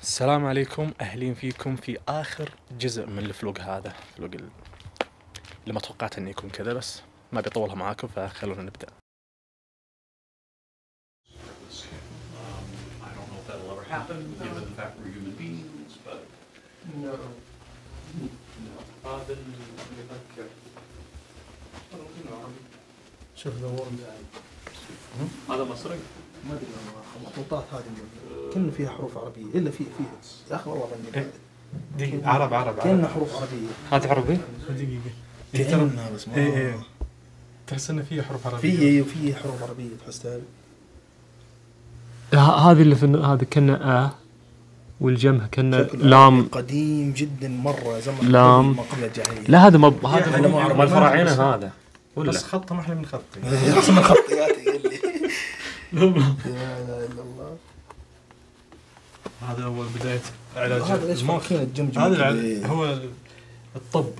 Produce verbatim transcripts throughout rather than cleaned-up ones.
السلام عليكم، أهلين فيكم في آخر جزء من الفلوق هذا. فلوق اللي ما توقعت أنه يكون كذا، بس ما بيطولها معاكم فخلونا نبدأ. شوف دور هذا مصري؟ ما ادري المخطوطات هذه كأنه فيها حروف عربية الا في فيها يا اخي والله بني دقيقة، عرب عرب كأنه حروف عربية. هذه عربي؟ دقيقة كأنها بس ما ايه ايه تحس انه فيه حروف عربية. فيه وفيه حروف عربية تحس هذه. هذه اللي في هذا كنا آ والجمع كنا لام قديم جدا مرة زمن لام ما قبل الجاهلية. لا هذا ما هذا مال الفراعنة هذا ولا بس خطه ما احنا بنخطي. احسن من خطياتي قال لي لا اله الا الله. هذا هو بداية علاج هذا ليش المخ. فاكرين الجمجمة هذا كذا؟ العل... هو الطب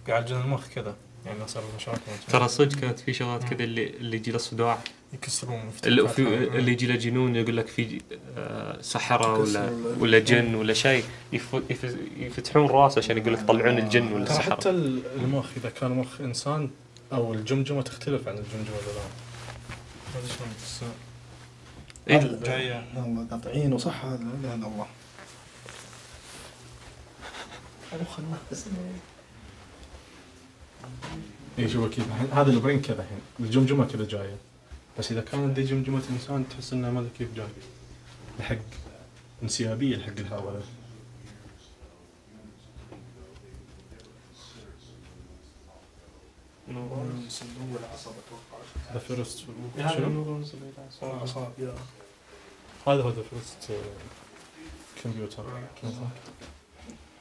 يعالجون المخ كذا، يعني صار مشاكل. ترى صدق كانت في شغلات كذا اللي اللي يجي له صداع، يكسرون اللي, في اللي يجي له جنون يقول لك في آه سحرة ولا ولا جن ولا شيء يف... يف... يفتحون راسه عشان يقول لك طلعون الجن ولا ترى السحرة. حتى المخ إذا كان مخ إنسان أو الجمجمة تختلف عن الجمجمة الآن. هذا شلون بس إيه جاية والله قاطعين وصح هذا لا اله الا الله. مخ الناس إيه شوف كيف هذا البرين كذا الحين الجمجمة كذا جاية، بس إذا كانت دي جمجمة إنسان تحس إنها ما أدري كيف جاية الحق انسيابية الحق الهواء. صندوق العصب اتوقع. ذا فيرست شنو؟ اعصاب يا هذا هو ذا فيرست كمبيوتر.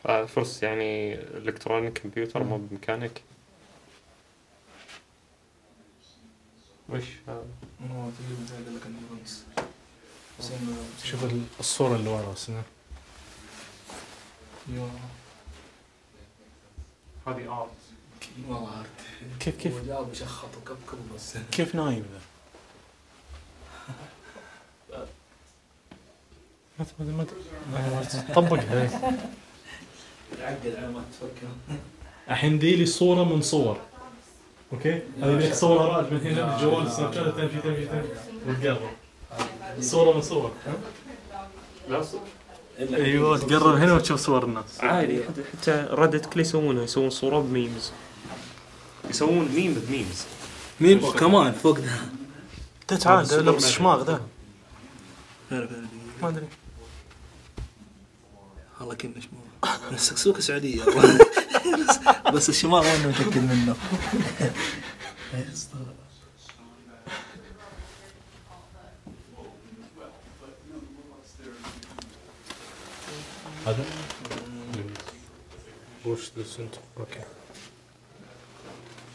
آه فرص يعني الكترونيك كمبيوتر مو بمكانك. وش هذا؟ هو تقريبا زي قال لك النيورونز. شوف الصورة اللي ورا سنة. يا هذه آرت. والله عارف كيف كيف جاء بشخط وكبكب بس كيف نايم ذا؟ ما ما ما ما طبقها. يعقد على ما تفكر. الحين دي لي صورة من صور، اوكي؟ هذه لك صورة راد من هنا بالجوال سناب شات تمشي تمشي تمشي وتقرب. صورة من صور. لا صدق. ايوه تقرب هنا وتشوف صور الناس. عادي حتى ردت كل يسوونها يسوون صورة بميمز، يسوون ميم بميمز. مين كمان فوق ده؟ تعال لبس شماغ ذا ما ادري والله كنا شماغ السكسوكة سعودية بس الشماغ ما متأكد منه. هذا وش دسنت اوكي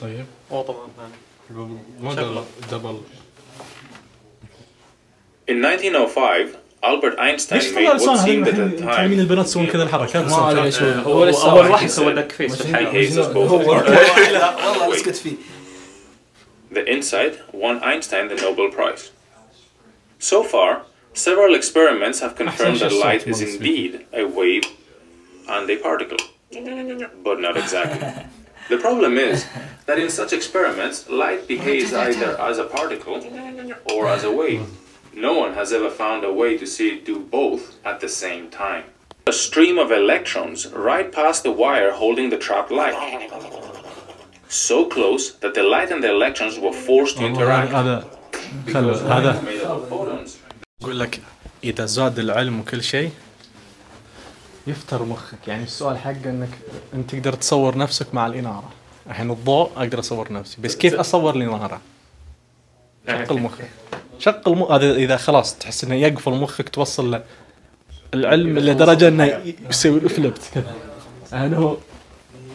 طيب أو طبعا هذا ما دبل. In nineteen oh five, Albert Einstein ليش made طلع what لسان seemed at هذا the تعلمين time البنات يسوون كذا الحركات؟ ما ادري ايش هو. هو أول واحد سوى دك فيس في he الحياة. hates us both. هو والله اسكت فيه. The insight won Einstein the Nobel Prize. So far, several experiments have confirmed that light is indeed a wave and a particle, but not exactly. The problem is that in such experiments, light behaves either as a particle or as a wave. No one has ever found a way to see it do both at the same time. A stream of electrons right past the wire holding the trapped light. So close that the light and the electrons were forced to interact. هذا Because light هذا is made up of photons. أقول لك إذا زاد العلم وكل شيء يفتر مخك. يعني السؤال حقه إنك أنت تقدر تصور نفسك مع الإنارة. الحين الضوء أقدر أصور نفسي، بس كيف أصور الإنارة؟ شغل مخك، شغل مخ. هذا إذا خلاص تحس إنه يقفل مخك توصل له العلم لدرجة إنه يسوي فليبت كذا. أنا هو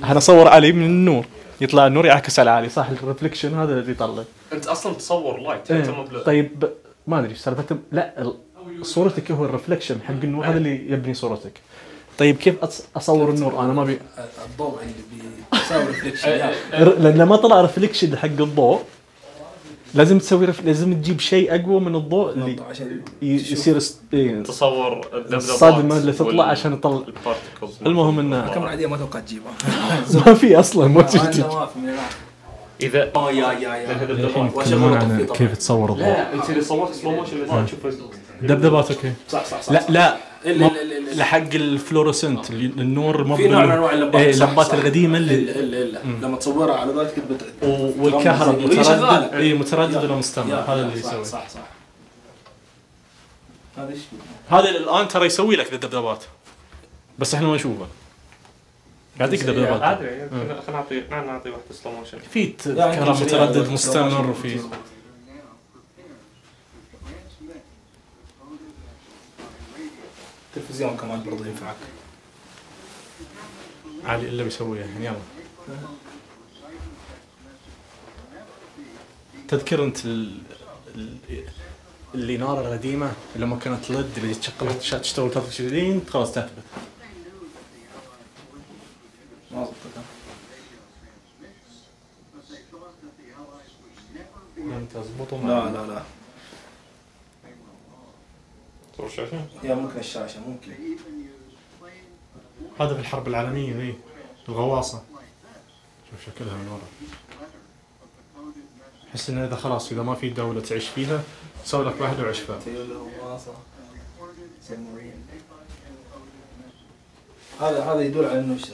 أنا أصور علي من النور يطلع النور يعكس على علي، صح؟ الريفليكشن هذا اللي يطلع. أنت أصلا تصور لايت أنت مو بلا. طيب ما أدري سالفة لا صورتك هو الريفلكشن حق النور هذا اللي يبني صورتك. طيب كيف أصور النور أنا ما بي الضوء اللي بيساوي ريفليكشن لأنه ما طلع ريفلكشن حق الضوء لازم تسوي رف... لازم تجيب شيء اقوى من الضوء اللي عشان ي- يصير است... إيه. تصور الذبذبات الصدمه اللي تطلع وال- عشان يطلع. البارتكلز. المهم انه كم عادية ما توقعت تجيبها. ما في اصلا ما تجي عندنا ما في من هناك. اذا اه يا يا يا الحين وأشغل يتكلمون أطفي عن طبعاً. كيف تصور الضوء. لا انت اللي صورت سلو موشن اللي تشوف دبدبات اوكي. صح صح صح. لا لا ال- ما- ال- ال- ال- لحق الفلورسنت اللي- النور مو في نوع من انواع اللمبات. إيه، صح، اللمبات صح. القديمه الا اللي الا الا لما تصورها على ذلك كذا بت- و- والكهرب وهي شغالة. متردد اي متردد ولا مستمر يا- هذا يا، اللي صح يسوي. صح صح. هذا ايش؟ هذا الان ترى يسوي لك الدبدبات بس احنا ما نشوفه. قاعد يعطيك دبدبات. ادري خلينا نعطي خلينا نعطي واحده سلو موشن. في ت- يعني كهرب يمكن متردد شيء- مستمر وفي التلفزيون كمان برضه ينفعك. علي اللي بيسويها يعني يلا. تذكر انت ال... ال... الإنارة القديمة لما كانت لد اللي تشغلها تش- تشتغل ثلاث وعشرين خلاص تثبت. ما ضبطتها. لم تزبط لا لا لا. صور شاشه؟ يا ممكن الشاشة ممكن. هذا في الحرب العالمية ذي الغواصة. شوف شكلها من ورا. أحس إن إذا خلاص إذا ما في دولة تعيش فيها سوي لك واحد وعيش فيها. هذا هذا يدل على انه ش-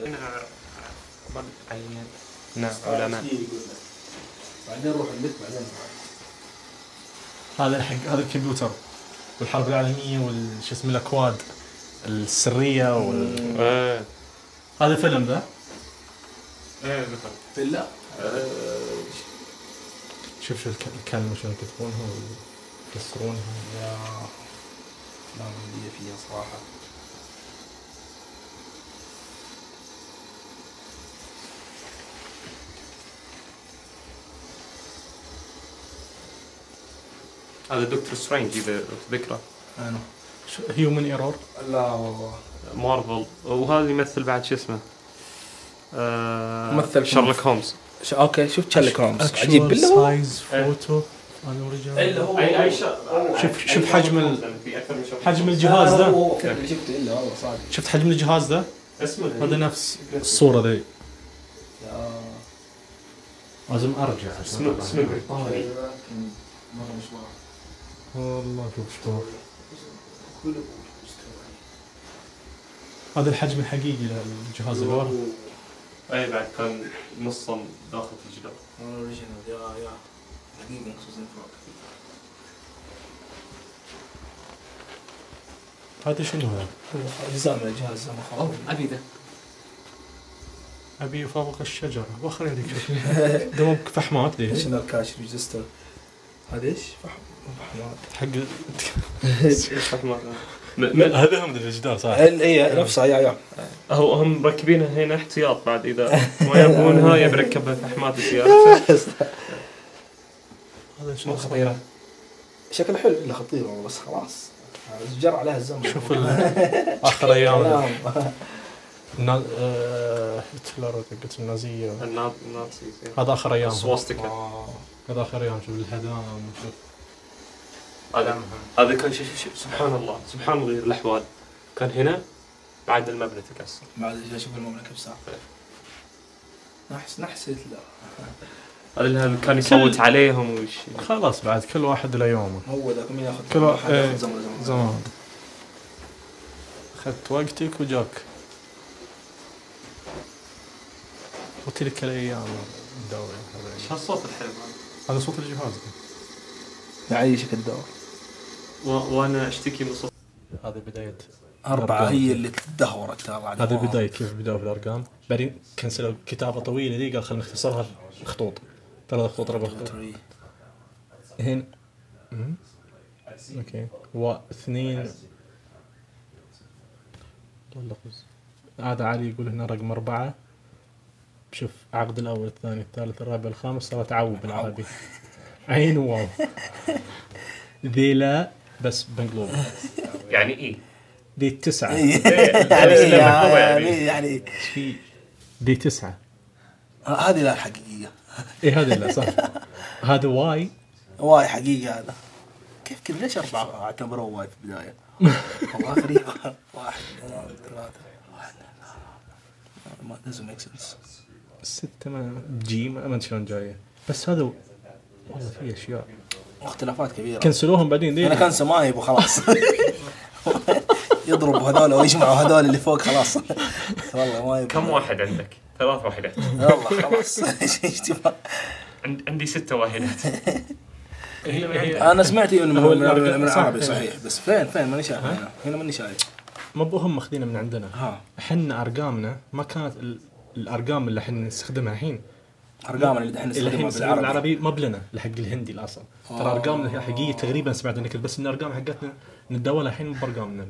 نعم علماء. بعدين روح البيت بعدين. هذا حق هذا الكمبيوتر والحرب العالمية والش اسمه الأكواد السرية وال... ايه هذا فيلم ذا. ايه مثلا بالله. شوف شو الك- الكلمة شلون يكتبونها ويفسرونها. يا لا مندية فيها صراحة. هذا دكتور سترينج اذا تذكره. انا هيومن ايرور. لا والله. مارفل وهذا يمثل بعد شو اسمه آه ممثل شارلوك هومز. ش... اوكي شفت شارلوك هومز عجيب بالله هو. سايز فوتو انا الا هو اي اي شوف شوف حجم ال... في اكثر من شخص. حجم الجهاز هو ذا. هو كيف اللي شفته الا والله صادق. شفت حجم الجهاز ذا اسمه هذا نفس الصورة ذي. يا لازم ارجع اسمه اسمه طاري مرة مشوار. والله شوف شلون هذا الحجم الحقيقي للجهاز اللي ورا. اي بعد كان نصا داخل في الجدار. اوريجينال يا يا حقيقي خصوصا فوق. هذا شنو هذا؟ اجزاء من الجهاز زي ما خلاص. ابي ذا ابي فوق الشجرة واخر يديك دوبك فحمات ذي شنو الكاش ريجستر؟ هذا ايش؟ فحم فحمات. حق فحمات. هذا هم الجدار صح؟ اي نفسها يا يا. هو هم مركبينها هنا احتياط بعد اذا ما يبونها يبي يركبها فحمات السيارة. هذا شنو خطيرة. شكله حلو الا خطير والله بس خلاص جرى عليها الزمن. شوف ال- اخر ايام كلام. النا- آه، هتلر قلت النازية النا- النازي هذا اخر ايام سواستيكا. آه. هذا اخر ايام شوف الهدام شوف هذا هذا كان شيء شيء سبحان الله سبحان الله غير الاحوال. كان هنا بعد المبنى تكسر. بعد جاي اشوف المملكه بساعه. نحس نحس هتلر. هذا اللي كان يصوت عليهم وش. خلاص بعد كل واحد له يومه. هو ذاك مين ياخذ كل واحد إيه، ياخذ زمن زمن. زمان اخذت وقتك وجاك وتلك الايام الدوري ايش هالصوت الحلو هذا؟ هذا صوت الجهاز يعيشك الدور. و- وانا اشتكي من صوت. هذه بداية أربعة هي اللي تدهورت ترى بعد. هذه البداية كيف بدأوا في الأرقام بعدين كنسلوا كتابة طويلة دي قال خلينا نختصرها خطوط ثلاث خطوط أربع خطوط هنا مم. أوكي واثنين والله فز. هذا علي يقول هنا رقم أربعة شوف عقد الأول الثاني الثالث الرابع الخامس صار تعوب بالعربي عين واو ذي لا بس بنقلوب يعني ايه؟ ذي التسعة يعني يعني في ذي تسعة هذه لا الحقيقية. ايه هذا لا صح هذا واي واي حقيقي هذا. كيف كذا ليش أربعة اعتبروه واي في البداية؟ والله غريبة. واحد اثنين ثلاثة واحد ما doesn't make sense. ستة ما جي ما أدري شلون جاية بس هذا والله في أشياء اختلافات كبيرة. كنسلوهم بعدين ليه؟ أنا كان سمايب وخلاص. يضربوا هذول ويجمعوا هذول اللي فوق خلاص. والله ما يبغى. كم واحد عندك؟ ثلاث واحدات. والله خلاص. ايش تبغى؟ عندي ستة واحدات. أنا سمعت إنه من من العربي صحيح بس فين فين ماني شايف هنا هنا ماني شايف. ما بهم ماخذينه من عندنا. ها. احنا أرقامنا ما كانت الأرقام اللي احنا نستخدمها الحين. أرقامنا اللي احنا نستخدمها بالعربي. العربي ما بلنا لحق الهندي الأصل. ترى أرقامنا الحقيقية تقريبا سمعت إنك بس إن أرقام حقتنا نتداولها الحين مو بأرقامنا.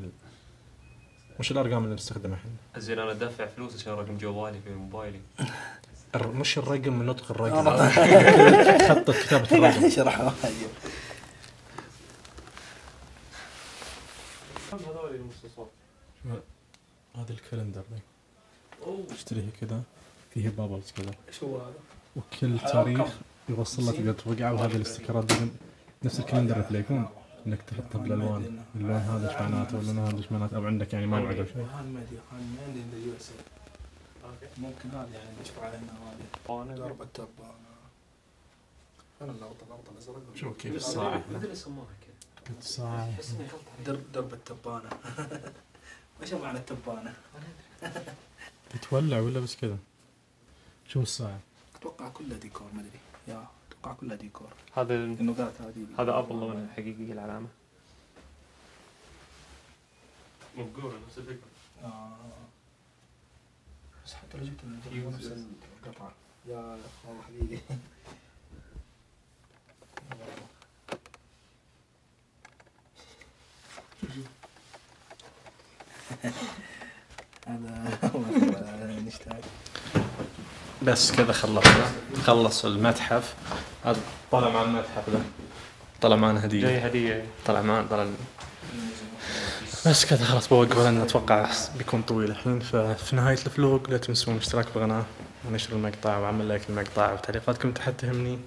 مش الأرقام اللي نستخدمها الحين. زين أنا دافع فلوس عشان رقم جوالي في موبايلي. مش الرقم من نطق الرقم. خط كتابة الرقم. شرح واجد. هذا الكالندر ذي. اشتريه كذا فيه بابلز كذا. ايش هو هذا؟ وكل تاريخ يوصل لك قد وقع وهذه الاستيكرات دي نفس الكالندر اللي يكون انك تحطها بالالوان اللون هذا ايش معناته واللون هذا ايش معناته او عندك يعني موعد او شيء. ممكن هذا يعني نشوف علينا هذه ضرب التبانة. أنا اللقطة اللقطة الأزرق. شوف كيف الساعة. مدري يسموها كذا. الساعة. درب درب التبانة. وش معنى التبانة؟ تتولع ولا بس كذا؟ شو الساعة؟ أتوقع كلها ديكور ما أدري. يا أتوقع كلها ديكور. هذا النقاط هذه. هذا أبل لون الحقيقي العلامة. مقولة نفس الفكرة. آه. بس حتى لو جبت من نفس القطعة. يا والله حقيقي. هذا نشتاق. بس كذا خلصنا خلص المتحف. هذا طلع مع المتحف ذا طلع معنا هدية. جاي هدية. طلع معنا طلع. بس كذا خلاص بوقف لأن أتوقع بيكون طويل الحين. ففي نهاية الفلوق لا تنسون الاشتراك بالقناة ونشر المقطع وعمل لايك المقطع وتعليقاتكم تحت تهمني.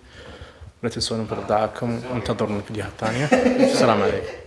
لا تنسون انتظار دعائكم وانتظروا الفيديوهات الثانية. السلام عليكم.